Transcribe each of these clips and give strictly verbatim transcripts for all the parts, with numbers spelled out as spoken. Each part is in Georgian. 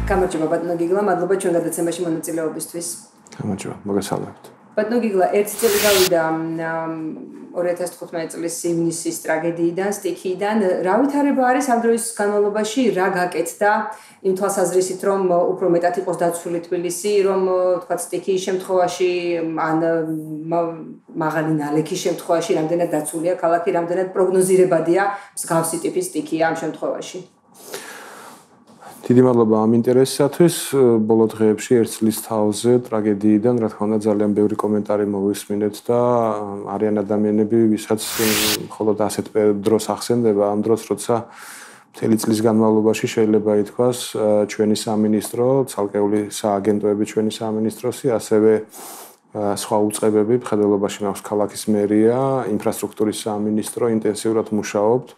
გამარჯობა ბატონო გიგლა, მადლობა ჩვენ გადაცემაში მონაწილეობისთვის. გამარჯობა, მოგესალმებით. ბატონო გიგლა, ერთი წელი გავიდა ორი ათას თხუთმეტი წლის ივნისის ტრაგედიიდან, სტიქიიდან. რა ვითარება არის ამ დროის განმავლობაში, რა გაკეთდა იმ თვალსაზრისით, რომ უფრო მეტად იყოს დაცული თბილისი, რომ თქვათ სტიქიის შემთხვევაში ან მაღალი ნალექის შემთხვევაში რამდენად დაცულია ქალაქი, რამდენად პროგნოზირებადია მსგავსი ტიპის სტიქია ამ შემთხვევაში. დიდი მადლობა ამ ინტერესისათვის. ბოლო დღეებში ერთ წლის თავზე ტრაგედიიდან, რა თქმა უნდა, ძალიან ბევრი კომენტარი მოვისმინეთ და არიან ადამიანები, ვისაც მხოლოდ ასეთ დროს ახსენდება ამ დროს, როცა მთელი წლის განმავლობაში შეიძლება ითქვას, ჩვენი სამინისტრო, ცალკეული სააგენტოები ჩვენი სამინისტროსი, ასევე სხვა უწყებები, მხედველობაში მაქვს ქალაქის მერია, ინფრასტრუქტურის სამინისტრო ინტენსიურად მუშაობთ.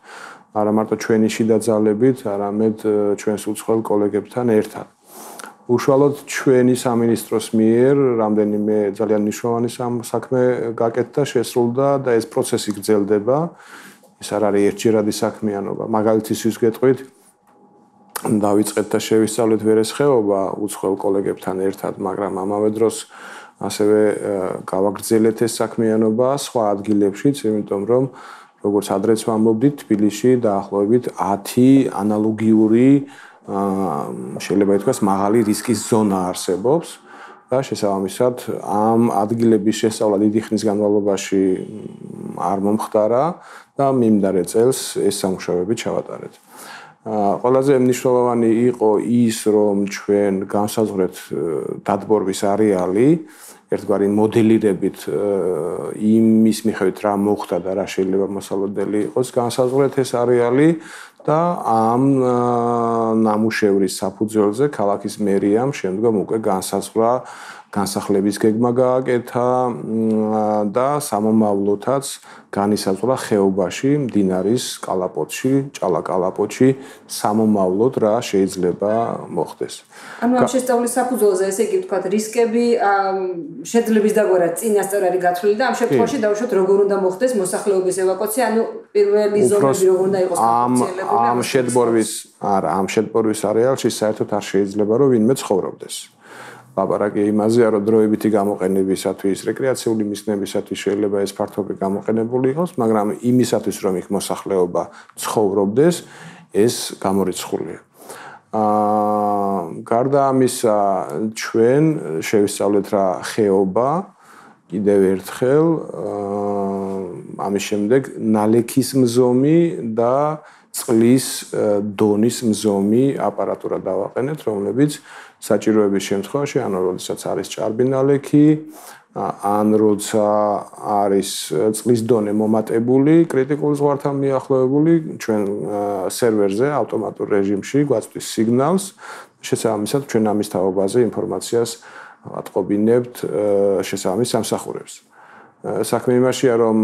არა მარტო ჩვენი შიდა ძალებით, არამედ ჩვენს უცხოელ კოლეგებთან ერთად. უშუალოდ ჩვენი სამინისტროს მიერ რამდენიმე ძალიან მნიშვნელოვანი საქმე გაკეთდა, შესრულდა და ეს პროცესი გრძელდება. ეს არ არის ერთჯერადი საქმიანობა. მაგალითისთვის გეტყვით, დავიწყეთ და შევისწავლეთ ვერესხეობა უცხოელ კოლეგებთან ერთად, მაგრამ ამავე დროს ასევე გავაგრძელეთ ეს საქმიანობა სხვა ადგილებშიც, იმიტომ რომ როგორც ადრეც ვამბობდით, თბილისში დაახლოებით ათი ანალოგიური შეიძლება ითქვას მაღალი რისკის ზონა არსებობს და შესაბამისად ამ ადგილების შესწავლა დიდი ხნის განმავლობაში არ მომხდარა და მიმდარე წელს ეს სამუშაოები ჩავატარეთ. ყველაზე მნიშვნელოვანი იყო ის, რომ ჩვენ განსაზღვრეთ დადბორვის არეალი ერთგვარი მოდელირებით იმის მიხედვით რა მოხდა და რა შეიძლება მოსალოდნელი იყოს განსაზღვრეთ ეს არეალი და ამ ნამუშევრის საფუძველზე ქალაქის მერიამ შემდგომ უკვე განსაზღვრა განსახლების გეგმა გააკეთა და სამომავლოდაც განისაზღვრა ხეობაში, მდინარის კალაპოტში, ჭალაკალაპოტში სამომავლოდ რა შეიძლება მოხდეს. ანუ ამ შესწავლის საფუძველზე ესე იგი ვთქვათ, რისკები შეძლების დაგვარა წინასწარ არის გათვლილი და ამ შემთხვევაში დავუშვათ როგორ უნდა მოხდეს მოსახლეობის ევაკუაცია, ანუ პირველი ზონები როგორ უნდა იყოს განხორციელებული. ამ შეტბორვის, არა, ამ შეტბორვის არეალში საერთოდ არ შეიძლება რომ ვინმე ცხოვრობდეს. ლაპარაკია იმაზე, რომ დროებითი გამოყენებისათვის, რეკრეაციული მიზნებისათვის შეიძლება ეს ფართობი გამოყენებული იყოს, მაგრამ იმისათვის, რომ იქ მოსახლეობა ცხოვრობდეს, ეს გამორიცხულია. აა გარდა ამისა, ჩვენ შევისწავლეთ რა ხეობა, კიდევ ერთხელ, აა ამის შემდეგ ნალექის მზომი და წყლის დონის მზომი აპარატურა დავაყენეთ, რომლებიც საჭიროების შემთხვევაში, ანუ როდესაც არის ჭარბი ნალექი, ან როცა არის წყლის დონე მომატებული, კრიტიკულ ზღვართან მიახლოებული, ჩვენ სერვერზე ავტომატურ რეჟიმში გვაწვდის სიგნალს, შესაბამისად ჩვენ ამის თაობაზე ინფორმაციას ვატყობინებთ შესაბამის სამსახურებს. საქმე იმაშია, რომ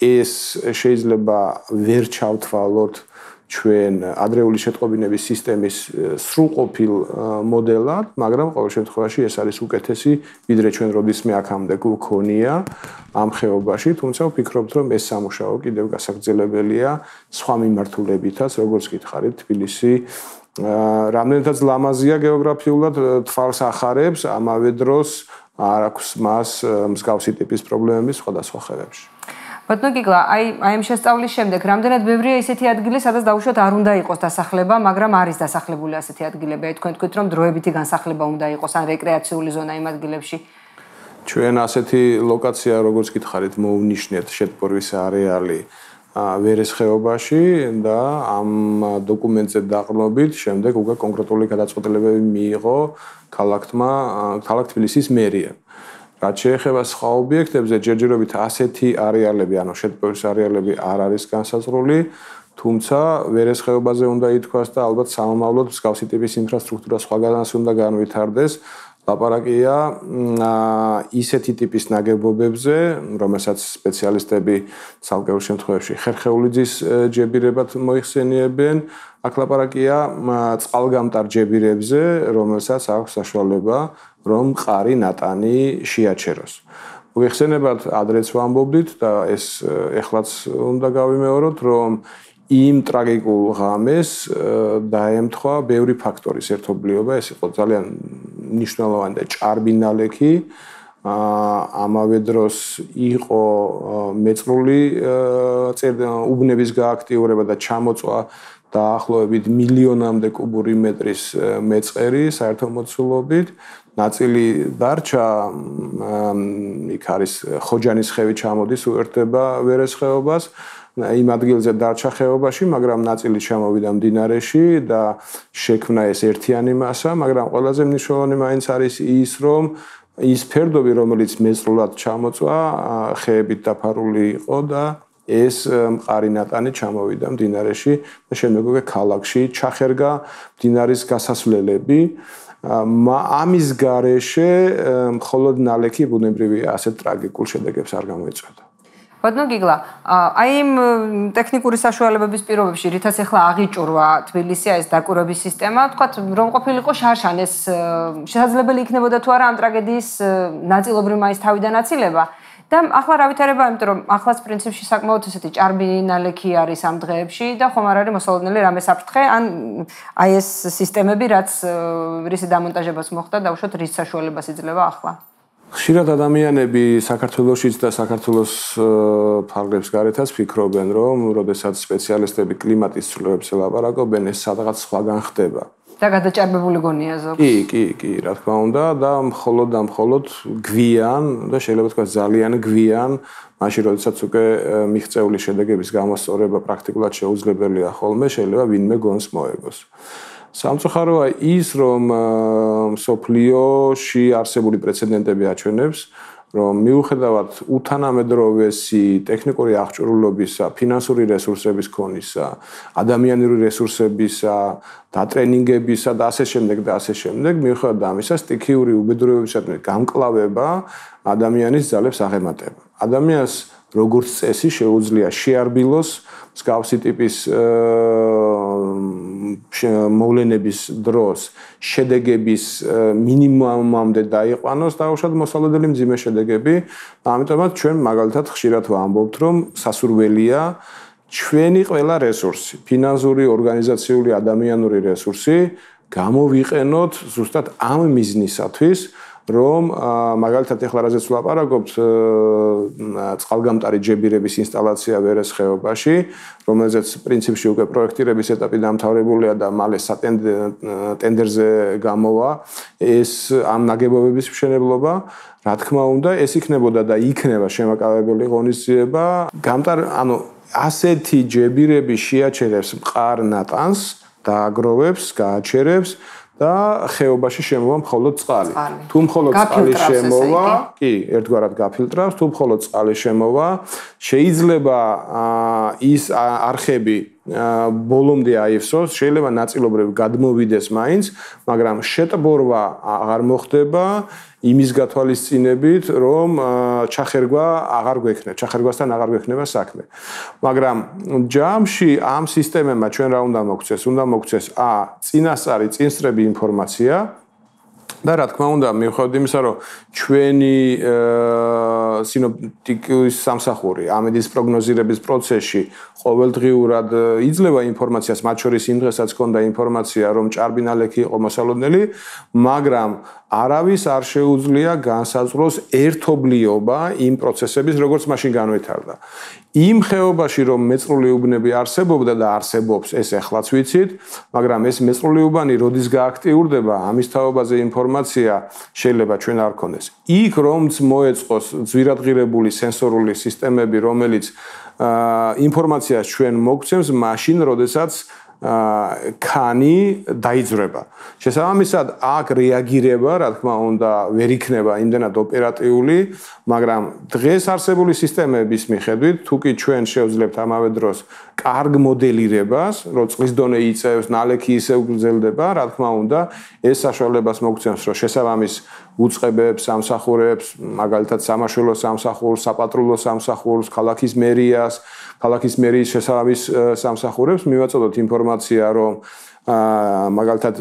ეს შეიძლება ვერ ჩავთვალოთ ჩვენ ადრეული შეტყობინების სისტემის სრულყოფილ მოდელად, მაგრამ ყოველ შემთხვევაში ეს არის უკეთესი, ვიდრე ჩვენ როდისმე აქამდე გვქონია ამ ხეობაში, თუმცა ვფიქრობთ, რომ ეს სამუშაო კიდევ გასაგრძელებელია სხვა მიმართულებითაც, როგორც გითხარით, თბილისი რამდენადაც ლამაზია გეოგრაფიულად თვალს ახარებს, ამავე დროს არ აქვს მას მსგავსი ტიპის პრობლემები სხვადასხვა ხევებში. ბატონო გიგლა, აი აი ამ შესწავლის შემდეგ რამდენად ბევრია ისეთი ადგილი, სადაც დაუშვათ არ უნდა იყოს დასახლება, მაგრამ არის დასახლებული ასეთი ადგილები. აი თქვენ თქვით, რომ დროებითი განსახლება უნდა იყოს ან რეკრეაციული ზონა იმ ადგილებში. ჩვენ ასეთი ლოკაცია, როგორც გითხარით, მოვნიშნეთ შეტბორვის არეალი ვერესხეობაში და ამ დოკუმენტზე დაყრდნობით შემდეგ უკვე კონკრეტული გადაწყვეტილებები მიიღო ქალაქთმა, ქალაქ თბილისის მერიამ. რაც შეეხება სხვა ობიექტებზე, ჯერჯერობით ასეთი არეალები, ანუ შეტბორვის არეალები არ არის განსაზღვრული, თუმცა ვერესხეობაზე უნდა ითქვას და ალბათ სამომავლოდ მსგავსი ტიპის ინფრასტრუქტურა სხვაგანაც უნდა განვითარდეს. ლაპარაკია ისეთი ტიპის ნაგებობებზე, რომელსაც სპეციალისტები ცალკეულ შემთხვევაში ხერხეულიძის ჯებირებად მოიხსენიებენ, აქ ლაპარაკია წყალგამტარ ჯებირებზე, რომელსაც აქვს საშუალება რომ მყარი ნატანი შეაჩეროს. მოგეხსენებათ, ადრეც ვამბობდით და ეს ეხლაც უნდა გავიმეოროთ, რომ იმ ტრაგიკულ ღამეს დაემთხვა ბევრი ფაქტორის ერთობლიობა, ეს იყო ძალიან მნიშვნელოვანი და ჭარბი ნალექი. ამავე დროს იყო მეწრული უბნების გააქტიურება და ჩამოწვა დაახლოებით მილიონამდე კუბური მეტრის მეწყერი საერთო მოცულობით. ნაწილი დარჩა, იქ არის ხოჯანის ხევი ჩამოდის, უერთდება ვერეს ხეობას. იმ ადგილზე დარჩა ხეობაში, მაგრამ ნაწილი ჩამოვიდა მდინარეში და შექმნა ეს ერთიანი მასა, მაგრამ ყველაზე მნიშვნელოვანი მაინც არის ის, რომ ის ფერდობი, რომელიც მეწრულად ჩამოწვა, ხეებით დაფარული იყო და ეს მყარი ნატანი ჩამოვიდა მდინარეში და შემდგომი ქალაქში ჩახერგა მდინარის გასასვლელები. ამის გარეშე მხოლოდ ნალექი ბუნებრივია ასეთ ტრაგიკულ შედეგებს არ გამოიწვევდა. ბატონო გიგლა, აი იმ ტექნიკური საშუალებების პირობებში, რითაც ახლა აღიჭურვა თბილისი ეს დაკვირვების სისტემა, თქვათ, რომ ყოფილიყო შარშან ეს შესაძლებელი იქნებოდა თუ არა ამ ტრაგედიის ნაწილობრივ მაინც თავიდან აცილება. და ახლა რა ვითარება, იმიტომ რომ ახლაც პრინციპში საკმაოდ ესეთი ჭარბი ნალექი არის ამ დღეებში და ხომ არ არის მოსალოდნელი რამე საფრთხე, ან აი ეს სისტემები, რაც რისი დამონტაჟებას მოხდა, დაუშვათ რის საშუალებას იძლევა ახლა. ხშირად ადამიანები საქართველოშიც და საქართველოს ფარგლებს გარეთაც ფიქრობენ, რომ როდესაც სპეციალისტები კლიმატის ცვლილებებს ელაპარაკობენ, ეს სადღაც სხვაგან ხდება. და გადაჭარბებული გონია ზოგს. კი, კი, კი, რა თქმა უნდა და მხოლოდ და მხოლოდ გვიან და შეიძლება თქვა ძალიან გვიან, მაშინ როდესაც უკვე მიღწეული შედეგების გამოსწორება პრაქტიკულად შეუძლებელია ხოლმე, შეიძლება ვინმე გონს მოეგოს. სამწუხაროა ის, რომ სოფლიოში არსებული პრეცედენტები აჩვენებს, რომ მიუხედავად უთანამედროვესი ტექნიკური აღჭურვილობისა, ფინანსური რესურსების ქონისა, ადამიანური რესურსებისა, დატრენინგებისა და ასე შემდეგ და ასე შემდეგ, მიუხედავად ამისა, სტიქიური უბედურებებისადმი გამკლავება ადამიანის ძალებს აღემატება. ადამიანს როგორც წესი შეუძლია შეარბილოს მსგავსი ტიპის მოვლენების დროს შედეგების მინიმუმამდე დაიყვანოს და უშუალოდ მოსალოდნელი მძიმე შედეგები. ამიტომაც ჩვენ მაგალითად ხშირად ვამბობთ, რომ სასურველია ჩვენი ყველა რესურსი, ფინანსური, ორგანიზაციული, ადამიანური რესურსი გამოვიყენოთ ზუსტად ამ მიზნისათვის, რომ მაგალითად ახლა რაზეც ვლაპარაკობთ წყალგამტარი ჯებირების ინსტალაცია ვერეს ხეობაში, რომელზეც პრინციპში უკვე პროექტირების ეტაპი დამთავრებულია და მალე სატენდერზე გამოვა ეს ამ ნაგებობების მშენებლობა. რა თქმა უნდა, ეს იქნებოდა და იქნება შემაკავებელი ღონისძიება. გამტარ, ანუ ასეთი ჯებირები შეაჩერებს მყარ ნატანს, დააგროვებს, გააჩერებს და ხეობაში შემოვა მხოლოდ წყალი. თუ მხოლოდ წყალი შემოვა, კი, ერთგვარად გაფილტრავს, თუ მხოლოდ წყალი შემოვა, შეიძლება ის არხები ბოლომდე აივსოს, შეიძლება ნაწილობრივ გადმოვიდეს მაინც, მაგრამ შეტბორვა აღარ მოხდება იმის გათვალისწინებით, რომ ჩახერგვა აღარ გვექნება, ჩახერგვასთან აღარ გვექნება საქმე. მაგრამ ჯამში ამ სისტემებმა ჩვენ რა უნდა მოგვცეს? უნდა მოგვცეს ა წინასწარი წინსწრები ინფორმაცია და რა თქმა უნდა, მიუხედავად იმისა, რომ ჩვენი სინოპტიკის სამსახური ამედის პროგნოზირების პროცესში ყოველდღიურად იძლევა ინფორმაციას, მათ შორის იმ დღესაც ჰქონდა ინფორმაცია, რომ ჭარბი ნალექი იყო მოსალოდნელი, მაგრამ არავის არ შეუძლია განსაზღვროს ერთობლიობა იმ პროცესების, როგორც მაშინ განვითარდა. იმ ხეობაში რომ მეწრული უბნები არსებობდა და არსებობს, ეს ახლაც ვიცით, მაგრამ ეს მეწრული უბანი როდის გააქტიურდება, ამის თაობაზე ინფორმაცია შეიძლება ჩვენ არ გქონდეს. იქ რომც მოეწყოს ძვირადღირებული სენსორული სისტემები, რომელიც ინფორმაციას ჩვენ მოგცემს მაშინ, როდესაც ქანი დაიძრება. შესაბამისად, აქ რეაგირება, რა თქმა უნდა, ვერ იქნება იმდენად ოპერატიული, მაგრამ დღეს არსებული სისტემების მიხედვით, თუკი ჩვენ შევძლებთ ამავე დროს კარგ მოდელირებას, რომ წყლის დონე იწევს, ნალექი ისევ გრძელდება, რა თქმა უნდა, ეს საშუალებას მოგცემს, რომ შესაბამის უწყებებს, სამსახურებს, მაგალითად სამაშველო სამსახურს, საპატრულო სამსახურს, ქალაქის მერიას, ქალაქის მერიის შესაბამის სამსახურებს მივაწოდოთ ინფორმაცია ინფორმაცია, რომ მაგალითად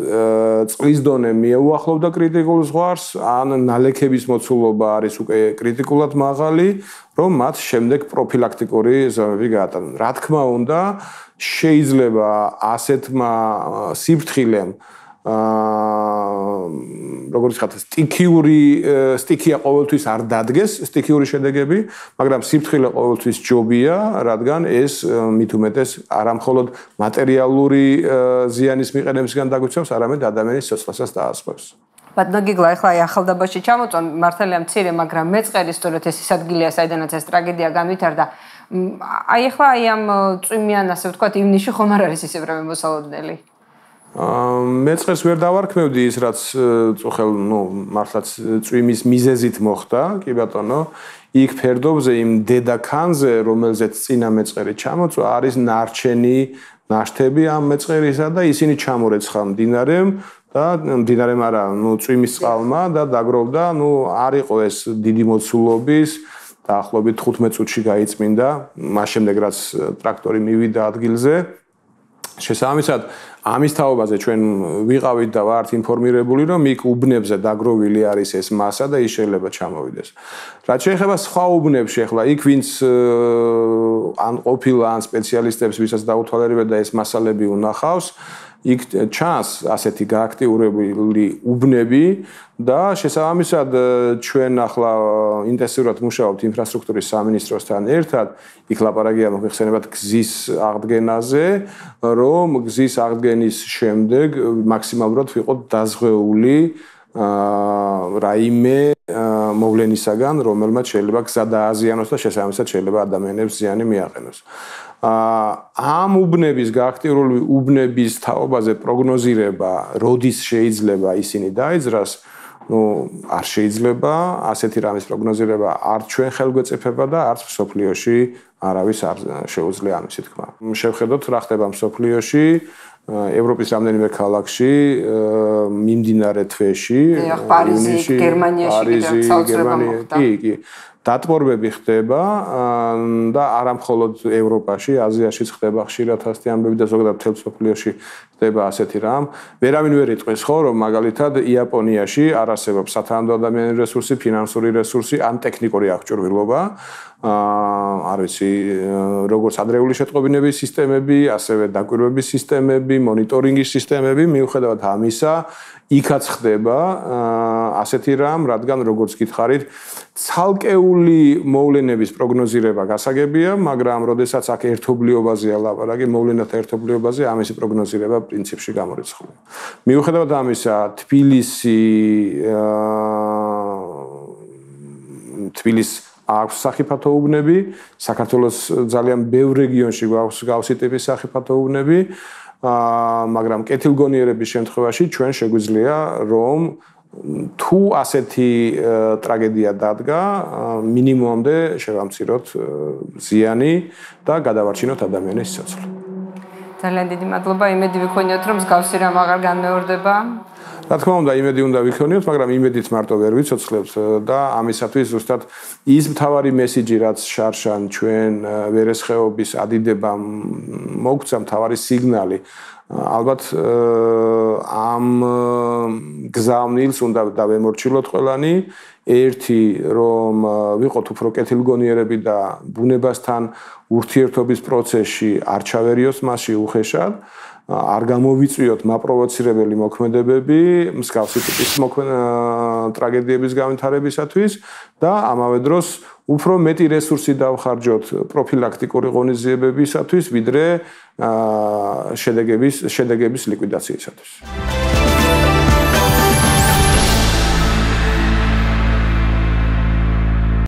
წყლის დონე მიუახლოვდა კრიტიკულ ზღვარს, ან ნალექების მოცულობა არის უკვე კრიტიკულად მაღალი, რომ მათ შემდეგ პროფილაქტიკური ზომები გაატარონ. რა თქმა უნდა, შეიძლება ასეთმა სიფრთხილემ აა როგორც ხათ სტიქიური სტიქია ყოველთვის არ დადგეს სტიქიური შედეგები, მაგრამ სიფრთხილე ყოველთვის ჯობია, რადგან ეს მით უმეტეს არამხოლოდ მატერიალური ზიანის მიყენებისგან დაგვიცემს, არამედ ადამიანის სიცოცხლესაც დაასრულებს. ბატონო გიგლა, ახლა აი ახალდაბაში ჩამოწონ, მართალია მცირე, მაგრამ მეწყერი სწორედ ეს ის ადგილია, საიდანაც ეს ტრაგედია განვითარდა. აი ახლა აი ამ წვიმიან, ასე ვთქვათ, ივნისში ხომ არ არის ისე პრობლემა მოსალოდნელი? მეწყერს ვერ დავარქმევდი ის, რაც წუხელ, ნუ, მართლაც წვიმის მიზეზით მოხდა, კი ბატონო. იქ ფერდობზე იმ დედაქანზე, რომელზეც წინა მეწყერი ჩამოწვა, არის ნარჩენი ნაშთები ამ მეწყერისა და ისინი ჩამორეცხა მდინარემ და მდინარემ არა, ნუ წვიმის წყალმა და დაგროვდა, ნუ არ იყო ეს დიდი მოცულობის, დაახლოებით თხუთმეტ წუთში გაიწმინდა, მას შემდეგ რაც ტრაქტორი მივიდა ადგილზე. შესაბამისად, ამის თაობაზე ჩვენ ვიყავით და ვართ ინფორმირებული, რომ იქ უბნებზე დაგროვილი არის ეს მასა და ის შეიძლება ჩამოვიდეს. რაც შეეხება სხვა უბნებში, ახლა იქ ვინც ან ყოფილა ან სპეციალისტებს, ვისაც დაუთვალიერებდა და ეს მასალები უნახავს, იქ ჩანს ასეთი გააქტიურებული უბნები და შესაბამისად ჩვენ ახლა ინტენსიურად მუშაობთ ინფრასტრუქტურის სამინისტროსთან ერთად, იქ ლაპარაკია მოხსენებათ გზის აღდგენაზე, რომ გზის აღდგენის შემდეგ მაქსიმალურად ვიყოთ დაზღვეული რაიმე მოვლენისაგან, რომელმაც შეიძლება გზა დააზიანოს და შესაბამისად შეიძლება ადამიანებს ზიანი მიაყენოს. ამ უბნების გააქტიურებული უბნების თაობაზე პროგნოზირება, როდის შეიძლება ისინი დაიძრას, ნუ არ შეიძლება ასეთი რამის პროგნოზირება არც ჩვენ ხელგვეწიფება და არც მსოფლიოში არავის არ შეუძლია ამისი თქმა. შევხედოთ რა ხდება მსოფლიოში, ევროპის რამდენიმე ქალაქში მიმდინარე თვეში, პარიზი, გერმანიაში, გერმანიაში, კი, კი. დატბორბები ხდება და არა მხოლოდ ევროპაში, აზიაშიც ხდება ხშირად ასეთი ამბები და ზოგადად მთელ მსოფლიოში ხდება ასეთი რამ. ვერავინ ვერ იტყვის ხო, რომ მაგალითად იაპონიაში არ არსებობს სათანადო ადამიანური რესურსი, ფინანსური რესურსი ან ტექნიკური აღჭურვილობა. არ ვიცი, როგორც ადრეული შეტყობინების სისტემები, ასევე დაკვირვების სისტემები, მონიტორინგის სისტემები, მიუხედავად ამისა, იქაც ხდება ასეთი რამ, რადგან როგორც გითხარით, ცალკეული მოვლენების პროგნოზირება გასაგებია, მაგრამ როდესაც აქ ერთობლიობაზეა ლაპარაკი, მოვლენათა ერთობლიობაზე, ამისი პროგნოზირება პრინციპში გამორიცხულია. მიუხედავად ამისა, თბილისი თბილისს აქვს სახიფათო უბნები, საქართველოს ძალიან ბევრ რეგიონში გვაქვს გავსი ტიპის სახიფათო უბნები, მაგრამ კეთილგონიერების შემთხვევაში ჩვენ შეგვიძლია რომ თუ ასეთი ტრაგედია დადგა, მინიმუმამდე შევამციროთ ზიანი და გადავარჩინოთ ადამიანის სიცოცხლე. ძალიან დიდი მადლობა, იმედი ვიქონიოთ, რომ მსგავსი რამ აღარ განმეორდება. რა თქმა უნდა, იმედი უნდა ვიქონიოთ, მაგრამ იმედით მარტო ვერ ვიცოცხლებთ და ამისათვის ზუსტად ის მთავარი მესიჯი, რაც შარშან ჩვენ ვერესხეობის ადიდებამ მოგცა, მთავარი სიგნალი. ალბათ ამ გზავნილს უნდა დავემორჩილოთ ყველანი, ერთი რომ ვიყოთ უფრო კეთილგონიერები და ბუნებასთან ურთიერთობის პროცესში არ ჩავერიოს მასში უხეშად. არ გამოვიწვიოთ მაპროვოცირებელი მოქმედებები მსგავსი ტიპის ტრაგედიების განვითარებისათვის და ამავე დროს უფრო მეტი რესურსი დავხარჯოთ პროფილაქტიკური ღონისძიებებისათვის, ვიდრე შედეგების შედეგების ლიკვიდაციისათვის.